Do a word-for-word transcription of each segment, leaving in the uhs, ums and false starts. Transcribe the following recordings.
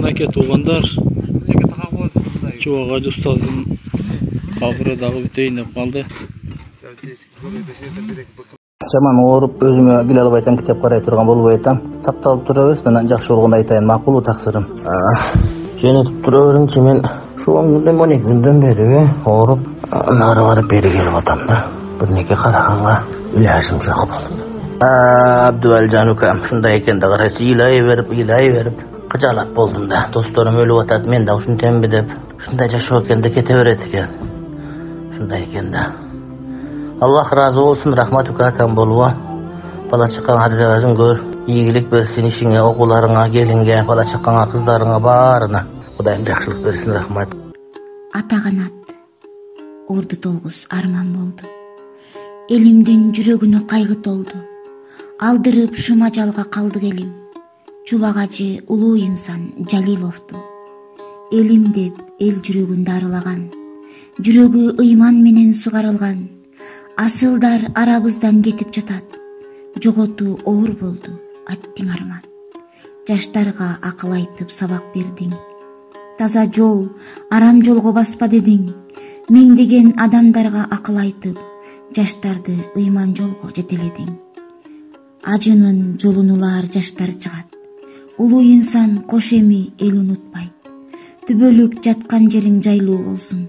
Мынакей туугандар, Чубак Ажы устаздын кабыры дагы бүтөйүн деп калды. Жаман ооруп өзүмө келе албай атам, китеп карай турган болбой атам. Сакталып турабыз, анан жакшы болгону айтайын, макулбу таксырым? Жөнөтүп тура бериңчи, мен ушул он күндөн он эки күндөн бери ооруп, нары барып бери келип атам да. Бирнеке караганга илажым жок болду. Абдывалжан укам ушундай экен да, карайсыз, ыйлай берип, ыйлай берип кыжаалат болдум да. Досторум өлүп атат, мен да ушинтемби деп. Ушундай жашоо экен да, кете берет экен. Ушундай экен да. Аллах разы болсун, рахмат ука акам болуп. Бала чакаңа арзабазын көр, ийгилик берсин ишиңе, окууларыңа, келинге, бала чакаңа, кыздарыңа баарына. Кудайым жакшылык берсин, рахмат. Ата канат, орду толгус арман болду. Элимдин жүрөгүнө кайгы толду. Алдырып шума жалга калдык элим. Чубак Ажы улуу инсан Жалиловду элим деп эл жүрөгүн дарылаган. Жүрөгү ыйман менен сугарылган. Асылдар арабыздан кетип жатат. Жоготуу оор болду, аттиң арман. Жаштарга акыл айтып сабак бердиң. Таза жол, арам жолго баспа дедиң. Миңдеген адамдарга акыл айтып, жаштарды ыйман жолго жетеледиң. Ажынын жолун улаар жаштар чыгат. Улуу инсан кош эми эл унутпайт. Түбөлүк жаткан жериң жайлуу болсун.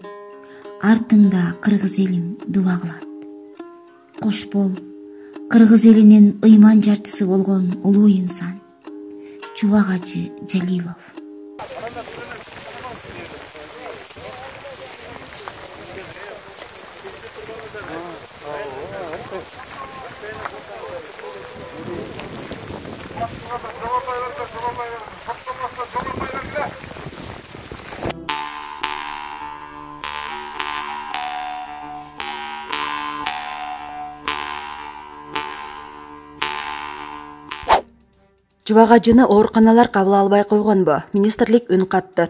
Артыңда кыргыз элим дуба кылат. Кош бол, кыргыз элинин ыйман жартысы болгон улуу инсан Чубак Ажы Жалилов. Чубак Ажыны ооруканалар кабыл албай койгонбу? Министрлик үн катты.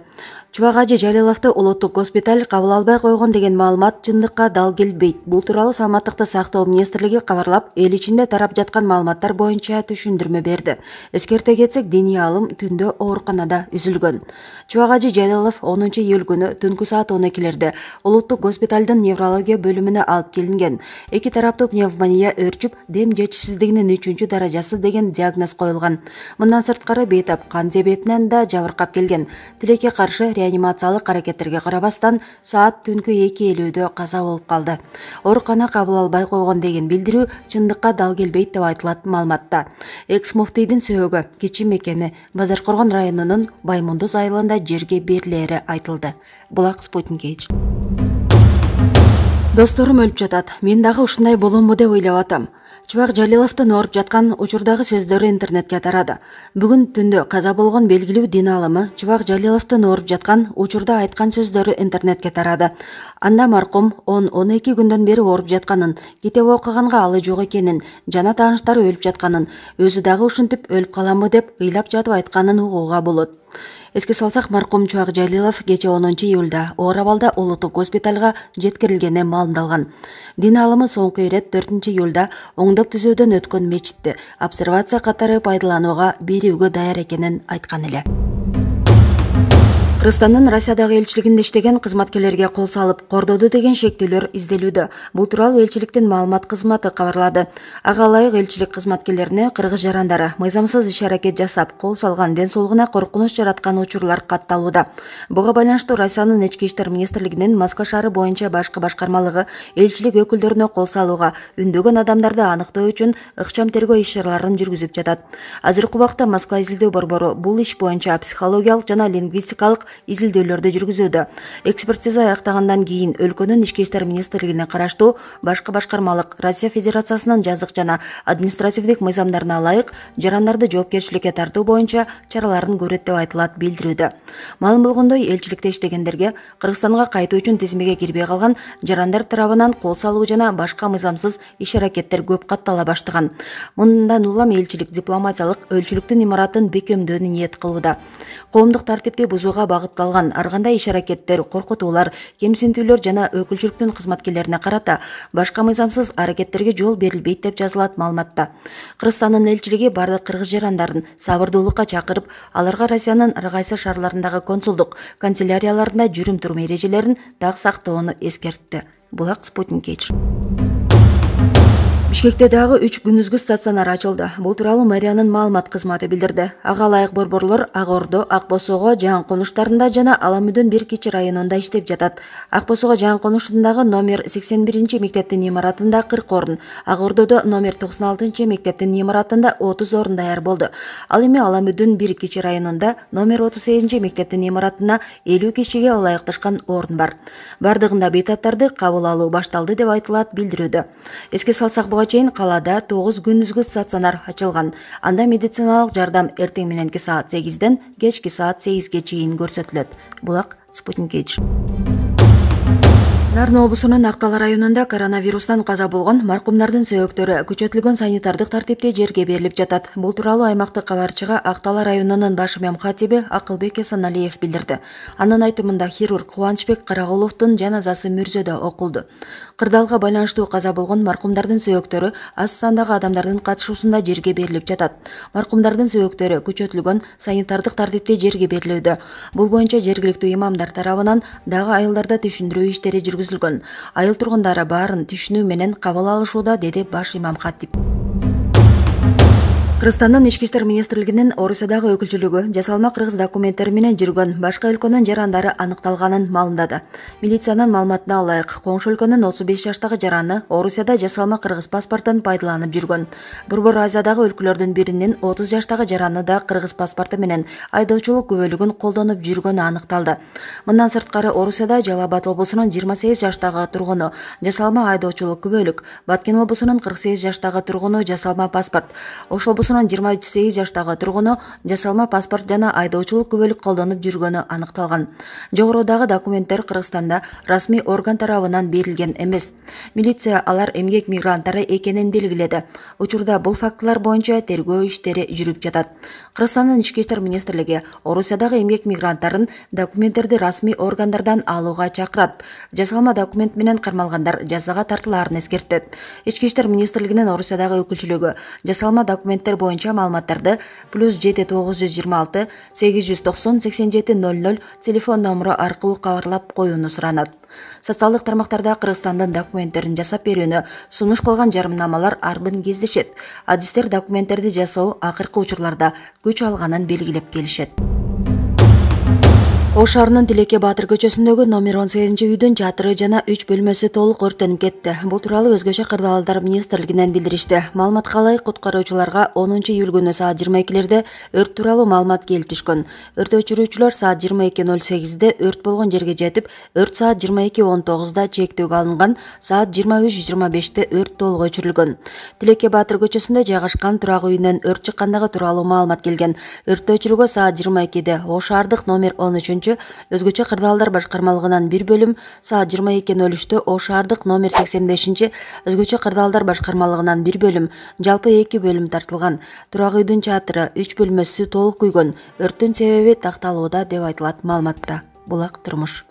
Чубак Ажы Жалиловду улуттук госпиталь кабыл албай койгон деген маалымат чындыкка дал келбейт. Бул тууралуу Саламаттыкты сактоо министрлиги кабарлап, эл ичинде тарап жаткан маалыматтар боюнча түшүндүрмө берди. Эскерте кетсек, диний алым түндө ооруканада үзүлгөн. Чубак Ажы Жалилов онунчу июль күнү түнкү саат он экилерде улуттук госпиталдын неврология бөлүмүнө алып келинген. Эки тараптуу пневмония өрчүп, дем жетишсиздигинин үчүнчү даражасы деген диагноз коюлган. Мындан сырткары бейтап кан диабетинен да жабыркап келген. Тилекке каршы реанимациялык аракеттерге карабастан саат түнкү эки элүүдө каза болуп калды. Оорукана кабыл албай койгон деген билдирүү чындыкка дал келбейт деп айтылат маалыматта. Экс муфтийдин сөөгү кичи мекени Базаркоргон районунун Баймундуз айылында жерге берилери айтылды. Булак Спутник эйч. Досторум өлүп жатат. Мен дагы ушундай боломбу деп ойлоп атам. Чубак Жалиловдун ооруп жаткан учурдагы сөздөрү интернетке тарады. Бүгүн түндө каза болгон белгилүү дин алымы Чубак Жалиловдун ооруп жаткан учурда айткан сөздөрү интернетке тарады. Анда маркум он он эки күндөн бери ооруп жатканын, китеп окуганга алы жок экенин, жана тааныштары өлүп жатканын, өзү дагы ушинтип өлүп каламбы деп ыйлап жатып айтканын угууга болот. Эске салсак, маркум Чубак Жалилов кечээ онунчу июлда оор абалда улуттук госпиталга жеткирилгени маалымдалган. Дин алымы соңку ирет төртүнчү июлда оңдоп түзөөдөн өткөн мечитти обсервация катары пайдаланууга берүүгө даяр экенин айткан эле. Кыргызстандын Россиядагы элчилигинде иштеген кызматкерлерге кол салып, кордоду деген шектүүлөр изделүүдө. Бул тууралуу элчиликтин маалымат кызматы кабарлады. Ага ылайык элчилик кызматкерлерине кыргыз жарандары мыйзамсыз иш-аракет жасап, кол салган, ден соолугуна коркунуч жараткан учурлар катталууда. Буга байланыштуу Россиянын Ички иштер министрлигинин Москва шаары боюнча башкы башкармалыгы элчилик өкүлдөрүнө кол салууга, үндөгөн адамдарды аныктоо үчүн ыкчам тергөө иш-чараларын жүргүзүп жатат. Азыркы убакта Москва изилдөө борбору бул иш боюнча психологиялык жана лингвистикалык изилдөөлөрдү жүргүзүүдө. Экспертиза аяктагандан кийин өлкөнүн Ички иштер министрлигине караштуу башкы башкармалык Россия Федерациясынын жазык жана административдик мыйзамдарына ылайык жарандарды жоопкерчиликке тартуу боюнча чараларын көрөт деп айтылат билдирүүдө. Маалым болгондой, элчиликте иштегендерге Кыргызстанга кайтуу үчүн тизмеге кирбей калган жарандар тарабынан кол салуу жана башка мыйзамсыз иш-аракеттер көп каттала баштаган. Мындан улам элчилик дипломатиялык өлчүлүктүн имаратын бекемдөөнү ниет кылууда. Коомдук тартипти бузууга багытталган ар кандай иш-аракеттер, коркутуулар, кемсинтүүлөр жана өкүлчүлүктүн кызматкерлерине карата башка мыйзамсыз аракеттерге жол берилбейт деп жазылат маалыматта. Кыргызстандын элчилиги бардык кыргыз жарандарын сабырдуулукка чакырып, аларга Россиянын ар кайсы шаарларындагы консулдук канцелярияларында жүрүм-турум эрежелерин так сактоону эскертти. Булак Спутник Эйч. Бишкекте дагы үч күндүзгү стационар ачылды. Бул тууралуу мэриянын маалымат кызматы билдирди. Ага ылайык борборлор Ак Ордо, Ак Босого, Жаан конуштарында жана Аламүдүн бир кичи районунда иштеп жатат. Ак Босого Жаан конуштундагы номер сексен биринчи мектептин имаратында кырк орун, Ак Ордодо номер токсон алтынчы мектептин имаратында отуз орун даяр болду. Ал эми Аламүдүн бир кичи районунда номер отуз сегизинчи мектептин имаратына элүү кишиге ылайыкташкан орун бар. Бардыгында бейтаптарды кабыл алуу башталды деп айтылат билдирүүдө. Эске салсак, буга чейин калаада тогуз күндүзгү стационар ачылган. Анда медициналык жардам эртең мененки саат сегизден кечки саат сегизге чейин көрсөтүлөт. Булак Спутник Эйч. Нарын облусунун Актала районунда коронавирустан каза болгон маркумдардын сөйөктөрү күчөтүлгөн санитардык тартипте жерге берилип жатат. Бул тууралуу аймактык кабарчыга Актала районунун баш мемкатиби Акылбек Эсеналиев билдирди. Анын айтымында хирург Кубанычбек Карагуловдун жаназасы Мүрзөдө окулду. Кырдаалга байланыштуу каза болгон маркумдардын сөйөктөрү аз сандагы адамдардын катышуусунда жерге берилип жатат. Маркумдардын сөйөктөрү күчөтүлгөн санитардык тартипте жерге берилүүдө. Бул боюнча жергиликтүү имамдар тарабынан дагы айылдарда түшүндүрүү иштери жүргүзүлгөн. Айыл тургундары баарын түшүнүү менен кабыл алышууда, деди баш имам катип. Кыргызстандын Ички иштер министрлигинин Орусиядагы өкүлчүлүгү жасалма кыргыз документтери менен жүргөн башка өлкөнүн жарандары аныкталганын маалымдады. Милициянын маалыматына ылайык, коңшу өлкөнүн отуз беш жаштагы жараны Орусияда жасалма кыргыз паспортун пайдаланып жүргөн. Борбор Азиядагы өлкөлөрдүн биринин отуз жаштагы жараны да кыргыз паспорту менен айдоочулук күбөлүгүн колдонуп жүргөнү аныкталды. Мындан сырткары Орусияда Жалал Абад облусунун жыйырма сегиз жаштагы тургуну жасалма айдоочулук күбөлүк, Баткен облусунун кырк сегиз жаштагы тургуну жасалма паспорт, Ош облусунун жыйырма сегиз жаштагы тургуну жасалма паспорт жана айдоочулук күбөлүк колдонуп жүргөнү аныкталган. Жогорудагы документтер Кыргызстанда расмий орган тарабынан берилген эмес. Милиция алар эмгек мигранттары экенин белгиледи. Учурда бул фактылар боюнча тергөө иштери жүрүп жатат. Кыргызстандын Ички иштер министрлиги Орусиядагы эмгек мигранттарын документтерди расмий органдардан алууга чакырат. Жасалма документ менен кармалгандар жазага тартылаарын эскертет. Ички иштер министрлигинин Орусиядагы өкүлчүлүгү жасалма документтер боюнча маалыматтарды плюс жети тогуз жүз жыйырма алты сегиз жүз токсон сексен жети ноль ноль телефон номуру аркылуу кабарлап коюуну суранат. Социалдык тармактарда Кыргызстандын документтерин жасап берүүнү сунуш кылган жарымнамалар арбын кездешет. Адистер документтерди жасоо акыркы учурларда күч алганын белгилеп келишет. Ош шаарынын Тилекке Баатыр көчөсүндөгү номер он сегизинчи үйдүн чатыры жана үч бөлмөсү толук өрттөнүп кетти. Бул тууралуу Өзгөчө кырдаалдар министрлигинен билдиришти. Маалыматка ылайык, куткаруучуларга онунчу июль күнү саат жыйырма экилерде өрт тууралуу маалымат келип түшкөн. Өрт өчүрүүчүлөр саат жыйырма эки ноль сегизде өрт болгон жерге жетип, өрт саат жыйырма эки он тогузда чектөөгө алынган, саат жыйырма үч жыйырма беште өрт толук өчүрүлгөн. Тилекке Баатыр көчөсүндө жайгашкан турак үйүнөн өрт чыккандыгы тууралуу маалымат келген. Өрттү өчүрүүгө саат жыйырма экиде Ош шаардык номер он үчүнчү Өзгөчө кырдаалдар башкармалыгынан бир бөлүм, саат жыйырма эки ноль үчтө Ош шаардык номер сексен бешинчи Өзгөчө кырдаалдар башкармалыгынан бир бөлүм, жалпы эки бөлүм тартылган. Турак үйдүн чатыры үч бөлмөсү толук күйгөн. Өрттүн себеби такталууда деп айтылат маалыматта. Булак Турмуш.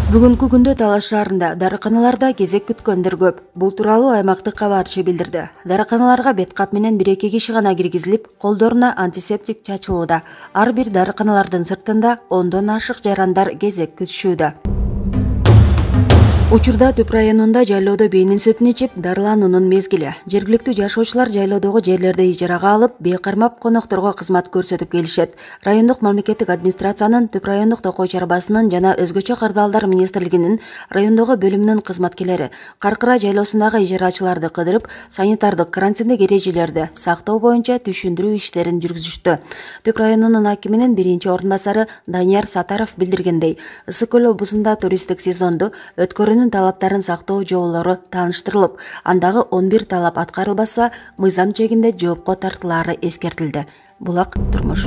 Бүгүнкү күндө Талаш шаарында дарыканаларда кезек күткөндөр көп. Бул тууралуу аймактык кабарчы билдирди. Дарыканаларга бет кап менен бир эки киши гана киргизилип, колдоруна антисептик чачылууда. Ар бир дарыканалардын сыртында ондон ашык жарандар кезек күтүшүүдө. Учурда Түп районунда жайлоодо бэйнин сүтүн ичип дарылануунун мезгили. Жергиликтүү жашоочулар жайлоодогу жерлерди ижарага алып, бээ кармап конокторго кызмат көрсөтүп келишет. Райондук мамлекеттик администрациянын Түп райондук токой чарбасынын жана Өзгөчө кырдаалдар министрлигинин райондогу бөлүмүнүн кызматкерлери Каркыра жайлоосундагы ижарачыларды кыдырып, санитардык карантиндик эрежелерди сактоо боюнча түшүндүрүү иштерин жүргүзүштү. Түп районунун акиминин биринчи орун басары Данияр Сатаров билдиргендей, Ысык көл облусунда туристтик сезонду өткөрүүнүн талаптарын сактоо жолдору тааныштырылып, андагы он бир талап аткарылбаса, мыйзам чегинде жоопко тартылаары эскертилди. Булак Турмуш.